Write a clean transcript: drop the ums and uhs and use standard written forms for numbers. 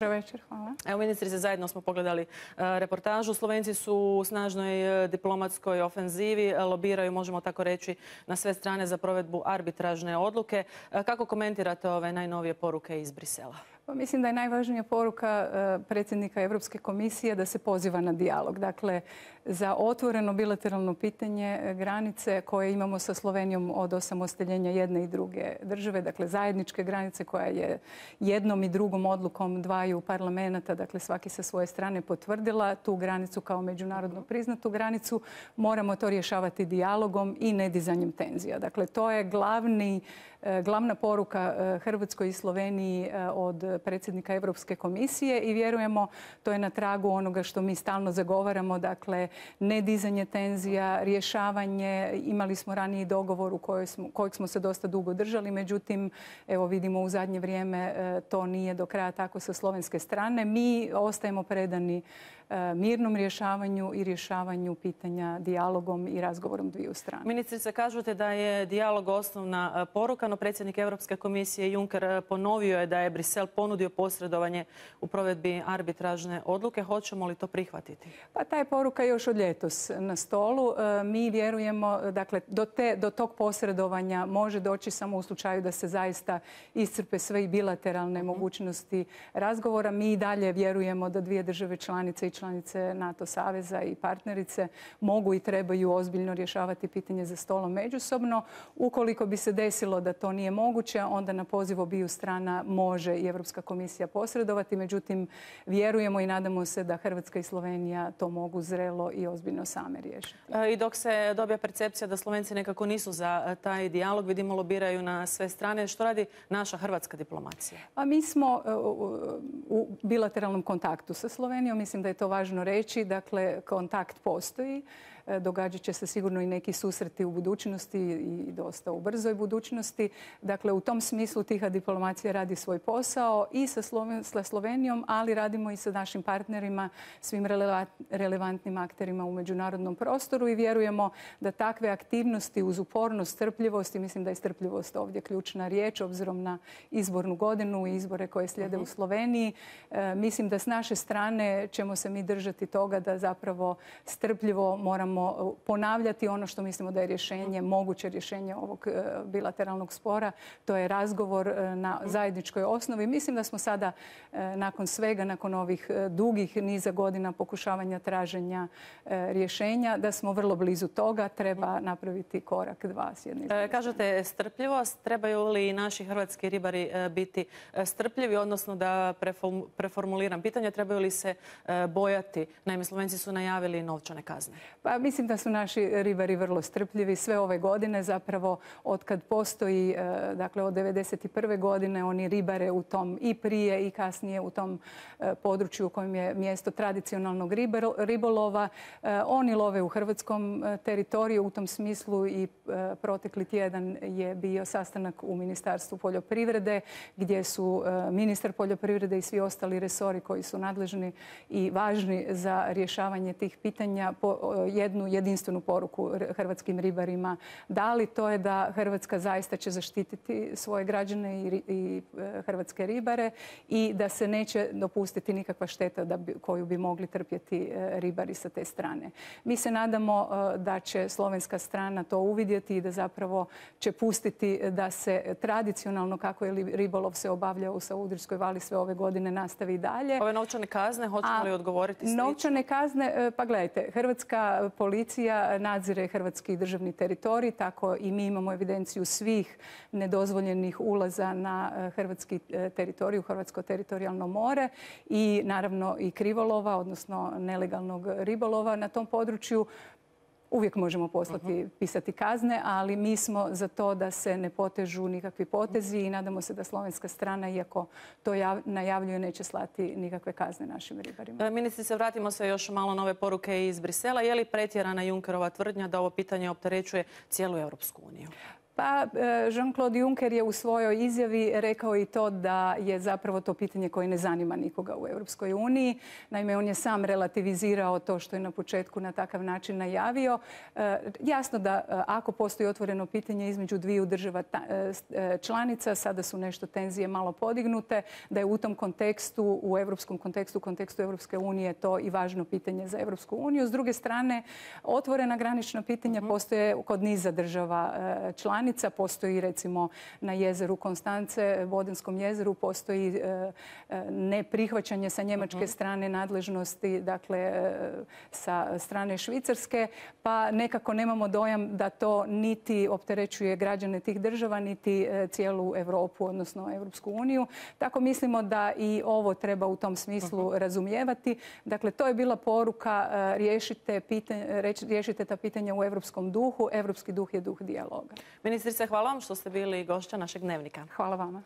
Dobro večer, hvala. Evo, ministrice, zajedno smo pogledali reportažu. Slovenci su u snažnoj diplomatskoj ofenzivi, lobiraju, možemo tako reći, na sve strane za provedbu arbitražne odluke. Kako komentirate ove najnovije poruke iz Brisela? Pa mislim da je najvažnija poruka predsjednika Europske komisije da se poziva na dijalog. Dakle, za otvoreno bilateralno pitanje granice koje imamo sa Slovenijom od osamostaljenja jedne i druge države, dakle zajedničke granice koja je jednom i drugom odlukom dvaju parlamenta, dakle svaki sa svoje strane potvrdila tu granicu kao međunarodno priznatu granicu, moramo to rješavati dijalogom i nedizanjem tenzija. Dakle, to je glavna poruka Hrvatskoj i Sloveniji od predsjednika Europske komisije i vjerujemo to je na tragu onoga što mi stalno zagovaramo, dakle nedizanje tenzija, rješavanje. Imali smo raniji dogovor u kojeg smo se dosta dugo držali, međutim, evo vidimo u zadnje vrijeme to nije do kraja tako sa slovenske strane. Mi ostajemo predani mirnom rješavanju i rješavanju pitanja dijalogom i razgovorom dviju strana. Ministrice, kažete da je dijalog osnovna poruka, no predsjednik Europske komisije Juncker ponovio je da je Brisel ponudio posredovanje u provedbi arbitražne odluke. Hoćemo li to prihvatiti? Pa ta je poruka još od ljetos na stolu. Mi vjerujemo, dakle, do tog posredovanja može doći samo u slučaju da se zaista iscrpe sve i bilateralne mogućnosti razgovora. Mi i dalje vjerujemo da dvije države članice i članice NATO saveza i partnerice mogu i trebaju ozbiljno rješavati pitanje za stolom međusobno. Ukoliko bi se desilo da to nije moguće, onda na poziv obiju strana može i Europska komisija posredovati. Međutim, vjerujemo i nadamo se da Hrvatska i Slovenija to mogu zrelo i ozbiljno same riješiti. I dok se dobija percepcija da Slovenci nekako nisu za taj dijalog, vidimo lobiraju na sve strane. Što radi naša hrvatska diplomacija? Pa mi smo u bilateralnom kontaktu sa Slovenijom. Mislim da je to važno reći. Dakle, kontakt postoji. Događat će se sigurno i neki susreti u budućnosti i dosta u brzoj budućnosti. Dakle, u tom smislu tiha diplomacija radi svoj posao i sa Slovenijom, ali radimo i sa našim partnerima, svim relevantnim akterima u međunarodnom prostoru i vjerujemo da takve aktivnosti uz upornost, strpljivost, i mislim da je strpljivost ovdje ključna riječ, obzirom na izbornu godinu i izbore koje slijede u Sloveniji. Mislim da s naše strane ćemo se mi držati toga da zapravo strpljivo moramo ponavljati ono što mislimo da je rješenje, moguće rješenje ovog bilateralnog spora. To je razgovor na zajedničkoj osnovi. Mislim da smo sada nakon svega, nakon ovih dugih niza godina pokušavanja traženja rješenja, da smo vrlo blizu toga. Treba napraviti korak dva s jedne strane. Kažete strpljivost. Trebaju li naši hrvatski ribari biti strpljivi, odnosno da preformuliram pitanje, trebaju li se bojati? Naime, Slovenci su najavili novčane kazne. Pa mislim da su naši ribari vrlo strpljivi sve ove godine. Zapravo od kad postoji, dakle od 1991. godine oni ribare u tom i prije i kasnije u tom području u kojem je mjesto tradicionalnog ribolova. Oni love u hrvatskom teritoriju. U tom smislu i protekli tjedan je bio sastanak u Ministarstvu poljoprivrede gdje su ministar poljoprivrede i svi ostali resori koji su nadležni i važni za rješavanje tih pitanja jednu jedinstvenu poruku hrvatskim ribarima dali. To je da Hrvatska zaista će zaštititi svoje građane i hrvatske ribare i da se neće dopustiti nikakva šteta koju bi mogli trpjeti ribari sa te strane. Mi se nadamo da će slovenska strana to uvidjeti i da zapravo će pustiti da se tradicionalno, kako je ribolov se obavljao u Savudrijskoj vali sve ove godine, nastavi i dalje. Ove novčane kazne, hoćemo li odgovoriti slično? Novčane kazne, pa gledajte, hrvatska policija nadzire hrvatski državni teritorij, tako i mi imamo evidenciju svih nedozvoljenih ulaza na hrvatski teritorij, u hrvatsko teritorijalno more i naravno i krivolova, odnosno nelegalnog ribolova na tom području. Uvijek možemo pisati kazne, ali mi smo za to da se ne potežu nikakvi potezi i nadamo se da slovenska strana, iako to najavljuje, neće slati nikakve kazne našim ribarima. Ministrice, vratimo se još malo nove poruke iz Brisela. Je li pretjerana Junckerova tvrdnja da ovo pitanje opterećuje cijelu Europsku uniju? Pa Jean-Claude Juncker je u svojoj izjavi rekao i to da je zapravo to pitanje koje ne zanima nikoga u Europskoj uniji. Naime, on je sam relativizirao to što je na početku na takav način najavio. Jasno da ako postoji otvoreno pitanje između dviju država članica, sada su nešto tenzije malo podignute, da je u tom kontekstu, u europskom kontekstu, kontekstu Europske unije to i važno pitanje za Europsku uniju. S druge strane, otvorena granična pitanja postoje kod niza država članica. Postoji recimo na jezeru Konstance, Bodenskom jezeru, postoji neprihvaćanje sa njemačke strane nadležnosti, dakle sa strane Švicarske, pa nekako nemamo dojam da to niti opterećuje građane tih država, niti cijelu Europu, odnosno Europsku uniju. Tako mislimo da i ovo treba u tom smislu razumijevati. Dakle, to je bila poruka, riješite ta pitanja u europskom duhu. Europski duh je duh dijaloga. Ministrice, hvala vam što ste bili gošća našeg Dnevnika. Hvala vama.